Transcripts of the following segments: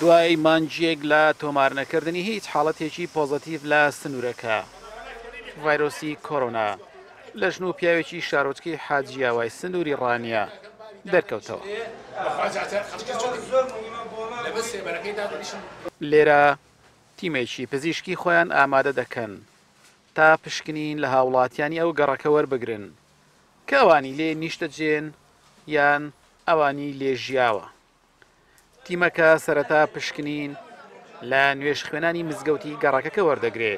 دوای مانگێک لە تۆمارنەکردنی هیچ حاڵەتێکی پۆزەتیڤ لە سنوورەکە، ڤایرۆسی کۆرۆنا لە ژن و پیاوێکی شارۆچکەی حاجیاوای سنووری ڕانیە دەرکەوتەوە. لێرە تیمێکی پزیشکی خۆیان ئامادە دەکەن تا پشکنین لە هاوڵاتیانی ئەو گەڕەکە وەربگرن کە ئەوانی لێ نیشتەجێن یان ئەوانی لێ ژیاوە. تیمەکە سەرەتا پشکنین لە نوێژخوێنانی مزگەوتی گەڕەکەکە وەردەگرێ،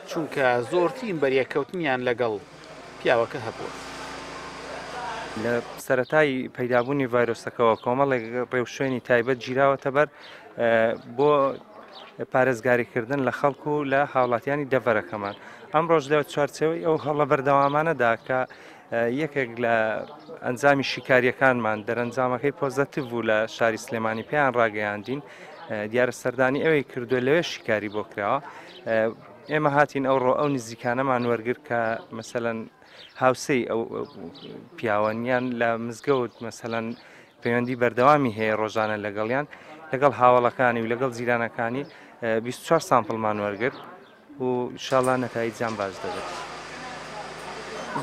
چونکە زۆرترین بەریەککەوتنیان لەگەڵ پیاوەکە هەبووە. لە سەرەتای پەیدابوونی ڤایرۆسەکەوە کۆمەڵێک ڕێوشوێنی تایبەت گیراوەتە بەر بۆ پارێزگاریکردن لە خەڵک و لە هاوڵاتیانی دەڤەرەکەمان. ئەمڕۆش لە چوارچێوەی ئەو هەوڵە بەردەوامانەدا کە یەکێک لە ئەنجامی شیکاریەکانمان دەرەنجامەکەی پۆزەتیڤ بوو لە شاری سلێمانی پێیان ڕاگەیاندین دیارە سەردانی ئەوەی کردووە لەوێ شیکاری بۆ کراوە ئێمە هاتین ئەوڕۆ ئەو نزیکانەمان وەرگر کە مەسەەن هاوسەی ئەو پیاوەنیان لە مزگەوت مەسەەن پەیوەندی بەردەوامی هەیە ڕۆژانە لەگەڵیان لەگەڵ هاوڵەکانی و لەگەڵ جیرانەکانی 24 سامپڵمان وەرگرت و ئیشاڵا نەتایجیان باش دەبێت.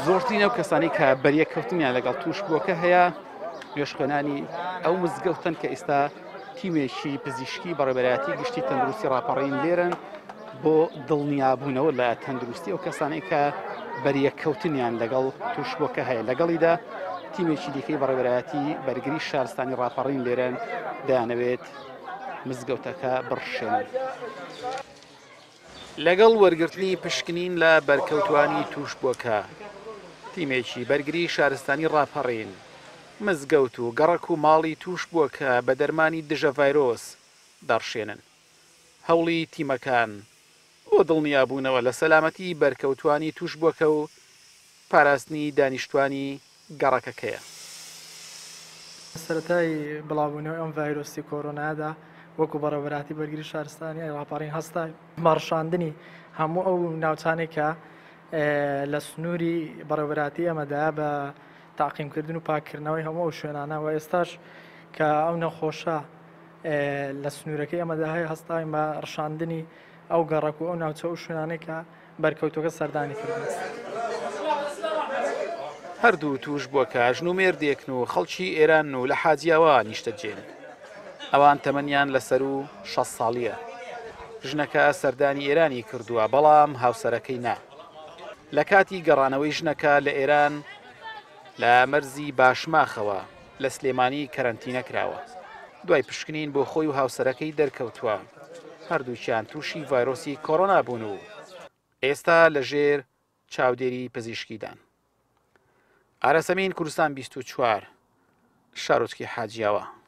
زۆرترین ئەو کەسانی کە بەریەککەوتنیان لەگەڵ تووشبووەکە هەیە نوێژخوێنانی ئەو مزگەوتەن کە ئێستا تیمێکی پزیشکی بەڕێبەرایەتی گشتی تەندروستی ڕاپەڕین لێرن بۆ دڵنیابوونەوە لە تەندروستی ئەو کەسانەی کە بەریەککەوتنیان لەگەڵ تووشبووەکە هەیە لەگەڵیدا تیمێکی دیکەی بەڕێبەرایەتی بەرگری شارستانی ڕاپەڕین لێرەن دەیانەوێت مزگەوتەکە بڕشێنن. لەگەڵ وەرگرتنی پشکنین لە بەرکەوتوانی تووشبووەکە، تیمێکی بەرگری شارستانی ڕاپەڕین، مزگەوت و گەڕەک و ماڵی تووشبووەکە بە دەرمانی دژە ڤایرۆس دەڕشێنن. هەوڵی تیمەکان بۆ دڵنیابوونەوە لە سەلامەتی بەرکەوتوانی تووشبووەکە و پاراستنی دانیشتوانی گەڕەکەکەیە. سەرەتای بڵاوبوونەوەی ئەم ڤایرۆسی کۆرۆنایەدا وەکو بەڕێوەبەرایەتی بەرگری شارستانی ڕاپەڕین هەستا بە ڕشاندنی هەموو ئەو ناوچانەی کە لە سنووری بەڕێوەبەرایەتی ئێمەدایە بە تاقیمکردن و پاککردنەوەی هەموو ئەو شوێنانە و ئێستاش کە ئەو نەخۆشە لە سنوورەکەی ئێمەدا هەیە هەستاین بە ڕشاندنی ئەو گەڕەک و ئەو ناوچە و شوێنانەی کە بەرکەوتوەکە سەردانی کردوون. هەردوو تووشبووەکە ژن و مێردێکن و خەڵکی ئێرانن و لە حاجیاوا نیشتەجێن. ئەوان تەمەنیان لە سەروو 60 ساڵییە. ژنەکە سەردانی ئێرانی کردووە، بەڵام هاوسەرەکەی نا. لە کاتی گەڕانەوەی ژنەکە لە ئێران لە مەرزی باشماخەوە لە سلێمانی کەرەنتینە کراوە. دوای پشکنین بۆ خۆی و هاوسەرەکەی دەرکەوتووە هەردووکیان تووشی ڤایرۆسی کۆرۆنا بوون و ئێستا لەژێر چاودێری پزیشکیدان. ئاراسەمین کوردستان 24 شارۆچکی حاجیاوە.